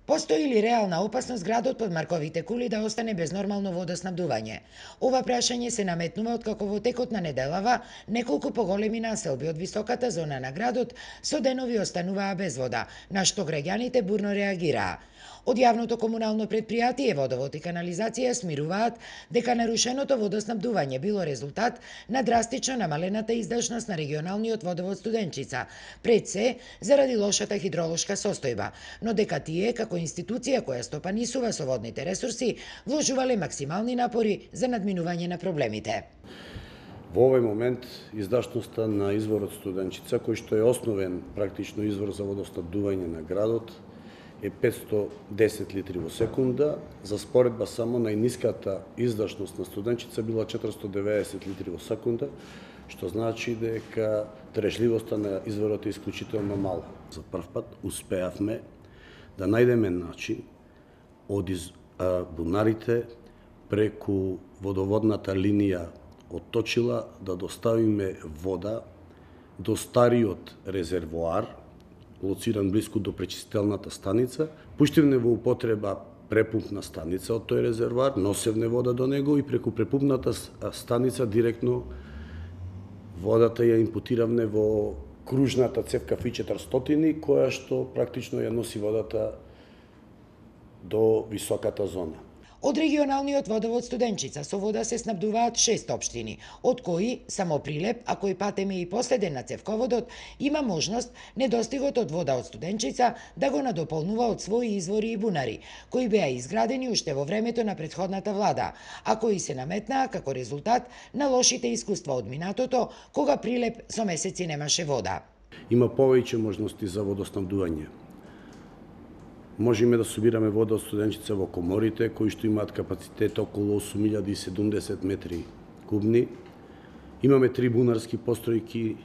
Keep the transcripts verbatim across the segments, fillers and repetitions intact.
Постои ли реална опасност градот под Марковите кули да остане без нормално водоснабдување? Ова прашање се наметнува откако во текот на неделава неколку поголеми населби од високата зона на градот со денови остануваа без вода, на што граѓаните бурно реагираа. Од јавното комунално претпријатие Водовод и канализација смируваат дека нарушеното водоснабдување било резултат на драстично намалената издашност на регионалниот водовод Студенчица, пред се заради лошата хидролошка состојба, но дека тие како институција која стопанисува со водните ресурси вложувале максимални напори за надминување на проблемите. Во овој момент издашноста на изворот Студенчица, кој што е основен практично извор за водоснабдување на градот, е петсто десет литри во секунда. За споредба само најниската издашност на Студенчица била четиристо деветдесет литри во секунда, што значи дека трежливоста на изворот е исклучително мала. За прв пат успеавме да најдеме начин од из, а, бунарите преку водоводната линија од Точила да доставиме вода до стариот резервоар, лоциран блиску до пречистелната станица. Пуштивме во употреба препумпна станица од тој резервоар, носевне вода до него и преку препумпната станица директно водата ја импутиравме во кружната цевка Ф четиристотини, која што практично ја носи водата до високата зона. Од регионалниот водовод Студенчица со вода се снабдуваат шест општини, од кои само Прилеп, а кој патем е и последен на цевководот, има можност недостигот од вода од Студенчица да го надополнува од своји извори и бунари, кои беа изградени уште во времето на претходната влада, а кои се наметнаа како резултат на лошите искуства од минатото, кога Прилеп со месеци немаше вода. Има повеќе можности за водоснабдување. Можеме да собираме вода од Студенчица во коморите, кои што имаат капацитет околу осум илјади и седумдесет метри кубни. Имаме три бунарски постројки.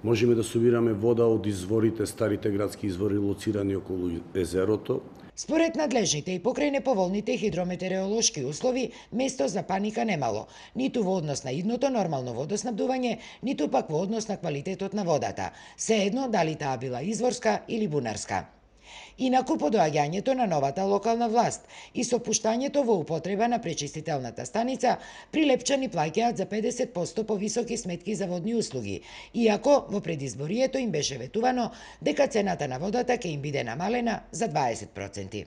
Можеме да собираме вода од изворите, старите градски извори лоцирани околу езерото. Според надлежните и покрај неповолните хидрометеоролошки услови, место за паника немало, ниту во однос на идното нормално водоснабдување, ниту пак во однос на квалитетот на водата, сеедно дали таа била изворска или бунарска. Инаку по доаѓањето на новата локална власт и со пуштањето во употреба на пречистителната станица, прилепчани плаќаат за педесет проценти повисоки сметки за водни услуги, иако во предизборието им беше ветувано дека цената на водата ќе им биде намалена за дваесет проценти.